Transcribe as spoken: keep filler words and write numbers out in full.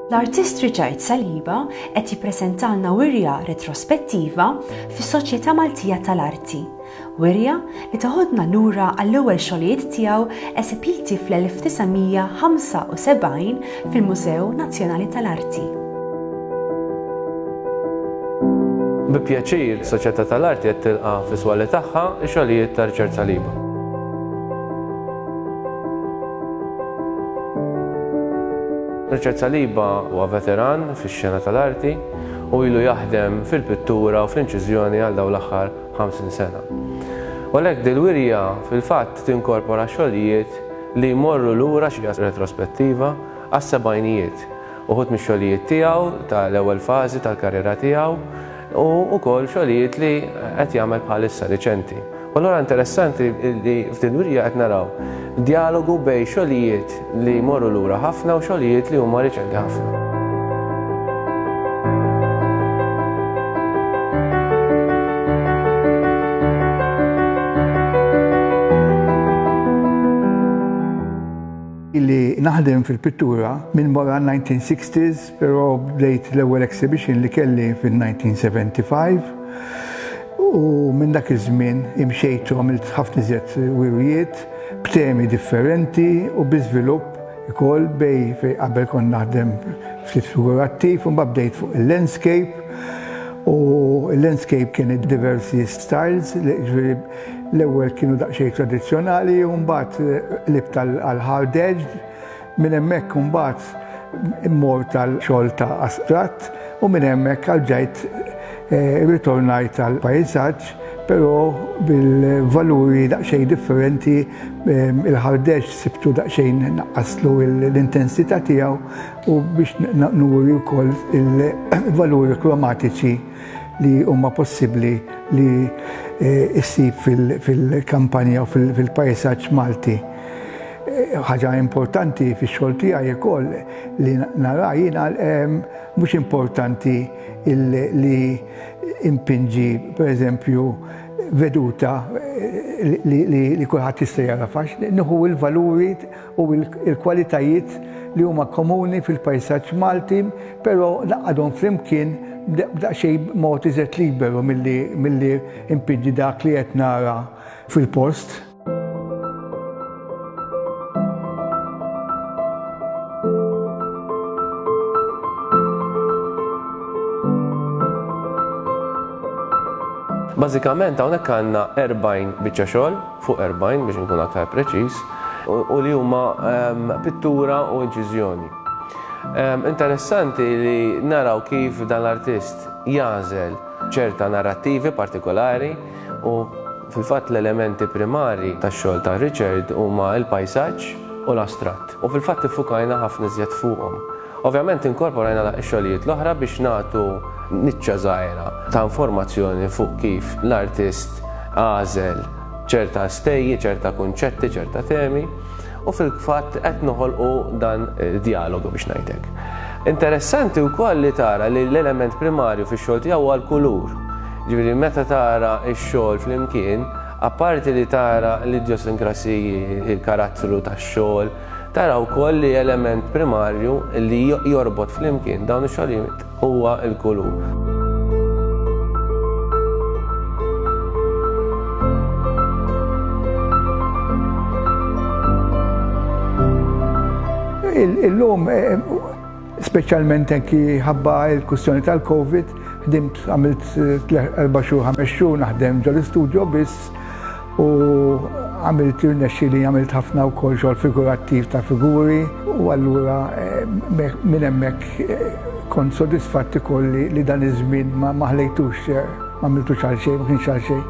L-artist Richard Saliba qed jippreżentalna wirja retrospettiva fis-Soċjetà Maltija tal-Arti. Wirja li toħodna lura għall-ewwel xogħlijiet tiegħu esebiti fl-elf disa' mija ħamsa u sebgħin fil-Mużew Nazzjonali tal-Arti. Bi pjaċir, Soċjetà tal-Arti qed tilqa' fis-swali tagħha x-xogħlijiet ta' Richard Saliba. Richard Saliba huwa veteran fix-xena tal-arti u ilu jaħdem fil-pittura u fl-inċiżjoni għal dawn l-aħħar ħamsin sena. U għalhekk dil-wirja fil-fatt tinkorpora xogħlijiet li jmorru lura xi retrospettiva għas-sebgħinijiet. Uħud mix-xogħlijiet tiegħu tal-ewwel fażi tal-karriera tiegħu u wkoll xogħlijiet li qed jagħmel bħalissa riċenti. U allura interessanti li f'din wirja qed naraw dialogu bejn xogħlijiet li jmorru lura ħafna u xogħlijiet li huma riċenti ħafna. Illi naħdem fil-pittura minn wara nineteen sixties, però bdejt l-ewwel exhibition li kelli fil-nineteen seventy-five u minn dak iż-żmien imxejt u għamilt ħafna iżjed wirjiet b'temi differenti u bi żvilupp ukoll bej fej qabel kont naħdem ftit figurattiv u mbagħad bdejt fuq il-landscape u il-landscape kien diversi styles, ġifieri l-ewwel kienu daqsxejn tradizzjonali u mbagħad qlibt għal hard edge, minn hemmhekk imbagħad immort għal xogħol ta' astratt u minn hemmhekk għal-ġajt, eh, ritornajt għal pajsaġġ, però bil-valuri daqsxejn differenti, ehm, il-hard edge sibtu daqsxejn naqqaslu l-intensità tiegħu u biex nuri wkoll il-valuri kromatiċi li huma possibbli li, eh, issib fil-, fil-kampanja u fil-, fil-pajsaġġ Malti. Eh, ħaġa importanti fix-xogħol tiegħi ukoll li nara jiena, ehm, mhux importanti il-, li impinġi pereżempju veduta, eh, li, li, li kulħadd jista' jara fax, nieħu l-valuri u l-, il-kwalitajiet li huma komuni fil-pajsaġġ Malti, però naqadhom flimkien b'daqsxejn mod iżjed liberu milli, milli impinġi dak li qed nara fil-post. Bażikament hawnhekk għandna erbgħin biċċa xogħol, fuq erbgħin biex nkun aktar preċiż, u, u li huma, ehm, pittura u inċiżjoni. Ehm, interessanti li naraw kif dan l-artist jagħżel ċerta narrattivi partikolari u fil-fatt l-elementi primari tax-xogħol ta' Richard huma l-pajsaġġ u l-astratt. U fil-fatt iffukajna ħafna iżjed fuqhom. Ovvjament inkorporajna x-xogħlijiet l-oħra biex nagħtu niċċa żgħira ta' informazzjoni fuq kif l-artist għażel ċerta stejji, ċerta kunċetti, ċerta temi u fil-fatt qed noħolqu dan dialogu biex ngħidlek. Interessanti wkoll li tara li l-element primarju fix-xogħol tiegħu huwa l-kulur. Ġifieri meta tara x-xogħol flimkien, apparti li tara l-idjosinkrasiji, il-karattru tax-xogħol, tara wkoll li element primarju li jorbot flimkien dawn ix-xogħlijiet huwa l-kulur. Illum, eh, speċjalment anki ħabba l-kwistjoni tal-Covid, ħdimt għamilt erba' xhur, ħames xhur naħdem ġol-istudio biss u għamilt irnexxieli għamilt ħafna wkoll xogħol figurattiv ta' figuri u allura, eh, minn hemmhekk, eh, kont sodisfatt ukoll li, li dan iż-żmien ma, ma ħlejtux, eh, ma għamiltux għal xejn, ma kienx għal xejn.